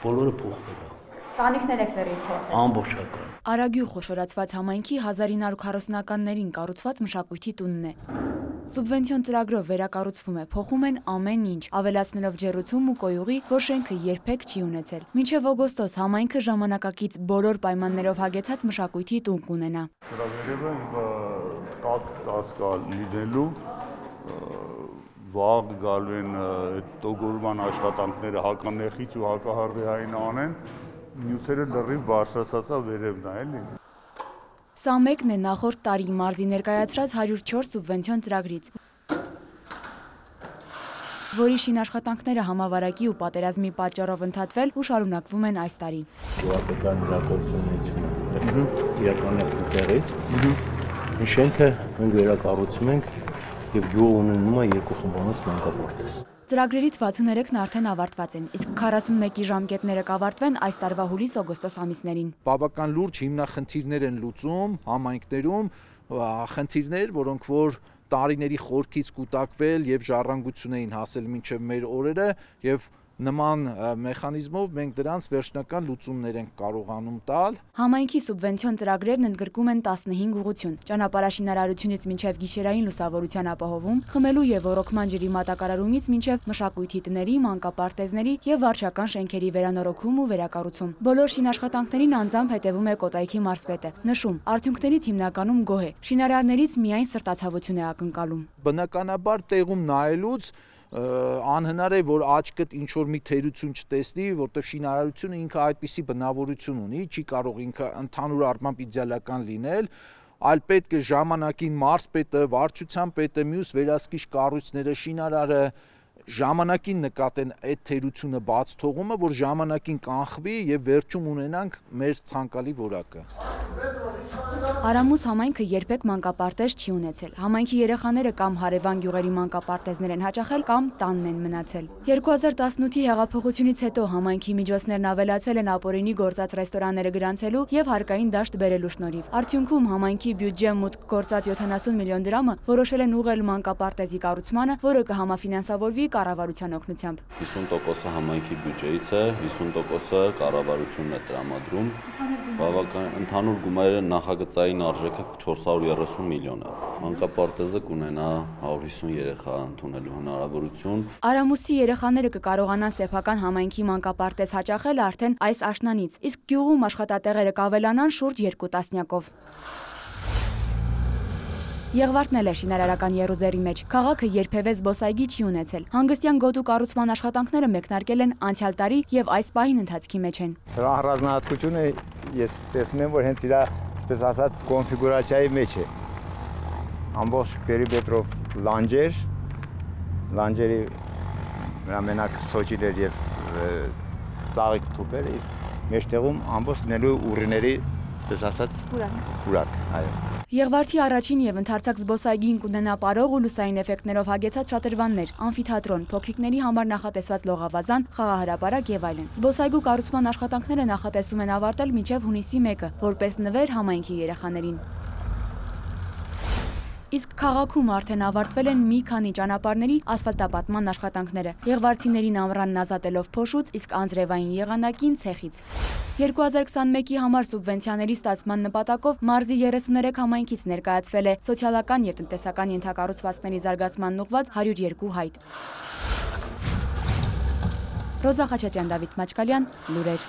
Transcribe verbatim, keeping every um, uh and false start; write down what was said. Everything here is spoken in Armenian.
Բոլորը փոխվել է։ Տանիքներ եք դեռ փոխել։ Ամբողջական։ Արագյուղ խոշորացված համայնքի հազար ինը հարյուր քառասունականներին կառուցված մշակույթի տունն է։ Սուբվենցիոն ծրագրով վերակառուցվում է, փոխում են ամեն ինչ, ավելացնելով ջեռուցում ու կոյուղի, որ շենքը երբեք չի ունեցել։ Մինչև օգոստոս համայնքը ժամանակակից բոլոր պայմաններով հագեցած մշակույթի տուն կունենա։ լինելու վաղ գալու են տոգորման աշխատանքները հականեխից ու հակահարվեհային անեն, նյութերը լրիվ բարձրացածա վերևն է, էլի։ Սա մեկն է նախորդ տարի մարզի ներկայացրած հարյուր չորս սուբվենցիոն ծրագրից, որի շինաշխատանքները համավարակի ու պատերազմի պատճառով ընդհատվել ու շարունակվում են այս տարի։ Գյուղական իրականությունից իրականացնում տեղից, շենքը մենք վերակառուցում ենք և գյուղը ունենում է երկու խմբանոց մանկապարտեզ։ Ծրագրերից վաթսուններեքն արդեն ավարտված են, իսկ քառասունմեկի ժամկետները կավարտվեն այս տարվա հուլիս-օգոստոս ամիսներին։ Բավական լուրջ հիմնախնդիրներ են լուծում համայնքներում, խնդիրներ, որոնք որ տարիների խորքից կուտակվել եւ ժառանգություն էին հասել մինչեւ մեր օրերը եւ նման մեխանիզմով մենք դրանց վերջնական լուծումներ ենք կարողանում տալ։ Համայնքի սուբվենցիոն ծրագրերն ընդգրկում են տասնհինգ ուղղություն, ճանապարհաշինարարությունից մինչև գիշերային լուսավորության ապահովում, խմելու եւ ոռոգման ջրի մատակարարումից մինչև մշակույթի տների, մանկապարտեզների եւ վարչական շենքերի վերանորոգում ու վերակառուցում։ Բոլոր շինաշխատանքներին անձամբ հետևում է Կոտայքի մարզպետը։ Նշում, արդյունքներից հիմնականում գոհ է, շինարարներից միայն սրտացավություն է ակնկալում։ Բնականաբար տեղում նայելուց անհնար է, որ աչքդ ինչ-որ մի թերություն չտեսնի, որտեղ շինարարությունը ինքը այդպիսի բնավորություն ունի, չի կարող ինքը ընդհանուր առմամբ իդեալական լինել, այլ պետք է ժամանակին մարզպետը, վարչության պետը, մյուս վերահսկիչ կառույցները, շինարարը ժամանակին նկատեն այդ թերությունը բաց թողումը, որ ժամանակին կանխվի եւ վերջում ունենանք մեր ցանկալի որակը։ Արամուս համայնքը երբեք մանկապարտեզ չի ունեցել։ Համայնքի երեխաները կամ հարևան գյուղերի մանկապարտեզներ են հաճախել կամ տանն են մնացել։ երկու հազար տասնութի հեղափոխությունից հետո համայնքի միջոցներն ավելացել են ապօրինի գործած ռեստորանները գրանցելու եւ հարկային դաշտ բերելու շնորհիվ։ Արդյունքում համայնքի բյուջե մուտք գործած յոթանասուն միլիոն դրամը որոշել են ուղղել մանկապարտեզի կառուցմանը, որը կհամաֆինանսավորվի կառավարության օգնությամբ։ հիսուն տոկոսը համայնքի բյուջեից է, հիսուն տոկոսը կառավարությունն է տրամադրում։ Բավական ընդհանուր գումարը նախագծային արժեքը չորս հարյուր երեսուն միլիոն է։ Մանկապարտեզը կունենա հարյուր հիսուն երեխա ընդունելու հնարավորություն։ Արամուսի երեխաները կկարողանան սեփական համայնքի մանկապարտեզ հաճախել արդեն այս աշնանից, իսկ գյուղում աշխատատեղերը կավելանան շուրջ երկու տասնյակով։ Եղվարդն էլ է շինարարական եռուզեռի մեջ։ Քաղաքը երբևէ զբոսայգի չի ունեցել։ Հանգստյան գոտու կառուցման աշխատանքները մեկնարկել են անցյալ տարի եւ այս պահին ընթացքի մեջ են։ Սրա առանձնահատկությունը ես տեսնում եմ, որ հենց իր, այսպես ասած, կոնֆիգուրացիայի մեջ է։ Ամբողջ պերիմետրով լանջեր, լանջերի վրա մենակ սոճիներ եւ ծաղիկ թուփեր, իսկ մեջտեղում ամբողջ նելու ուռիների, այսպես ասած, պուրակ, այո։ Եղվարդի առաջին եւ ընդարձակ զբոսայգին կունենա պարող ու լուսային էֆեկտներով հագեցած շատրվաններ, ամֆիթատրոն, փոքրիկների համար նախատեսված լողավազան, խաղահրապարակ եւ այլն։ Զբոսայգու կառուցման աշխատանքները նախատեսում են ավարտել մինչեւ հունիսի մեկը, որպես նվեր համայնքի երեխաներին։ Իսկ քաղաքում արդեն ավարտվել են մի քանի ճանապարհների ասֆալտապատման աշխատանքները, եղվարդիներին ամռանն ազատելով փոշուց, իսկ անձրևային եղանակին ցեխից։ երկու հազար քսանմեկի համար սուբվենցիաների ստացման նպատակով մարզի երեսուներեք համայնքից ներկայացվել է սոցիալական եւ տնտեսական ենթակառուցվածքների զարգացմանն ուղղված հարյուր երկու հայտ։ Ռոզա Խաչատրյան, Դավիթ Մաչկալյան, լուրեր։